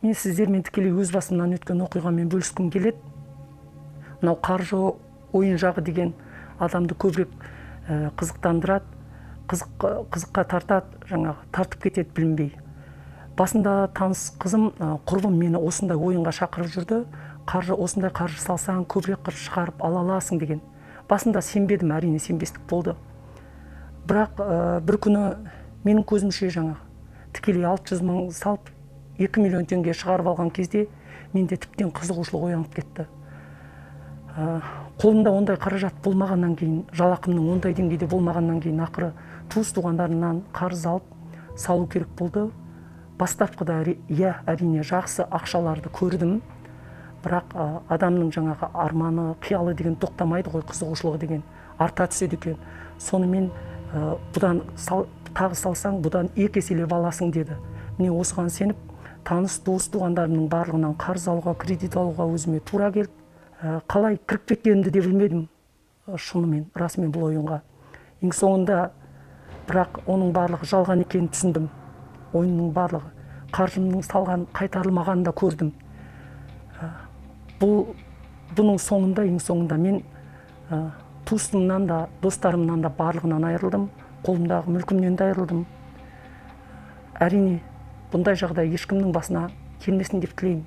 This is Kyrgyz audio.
Мен сиздер менен тикелей өз басымдан өткөн окуйга менен бөлүскүм келет. Мынау каржы оюн жагы деген адамды көбүрөөк кызыктандырат, кызыкка тартат, жаңагы тартып кетет билинбей. Басында таныс кызым, курбум мени осундай оюнга чакырып жүрдү. Осундай каржы салсаң көбүрөөк кыр чыгарып ала аласың деген. Басында сенбедим, арине сенбестик болду. Бирок бир күнү менин көзүмчө жаңагы тикелей 600 000 салып 2 миллион теңге чыгарып алган кезде менде типтен кызыгуучулук оянып кетти. Колумда ондай каражат болмагандан кийин, жалакымдын ондай деңгейде болмагандан кийин акыры туус туугандарымдан карыз алып салуу керек болду. Баштапкыда арине жакшы акчаларды көрдүм. Бирок адамдын жаңагы арманы, кыялы деген токтомайды го, кызыгуучулугу деген арта түшөт экен. Сону мен будан тагы салсаң, будан 2 эселеп аласың деди. Міне осуган сенип, таныс дос туугандарымдын баардыгынан карыз алууга, кредит алууга өзүмө туура келип, калай кирип кеткенимди де билмедим. Шынымен, расымен бул оюнга. Эң соңунда бирок онун баардыгы жалган экенин түшүндүм. Оюндун баардыгы, каржымдын салган кайтарылмаганын да көрдүм. Бунун соңунда, эң соңунда мен туусумдан да, досторумдан да баардыгынан айрылдым. Колумдагы мүлкүмдөн да айрылдым. Арине, bunday жагдай эч кимдин басына келмесин деп тилейм.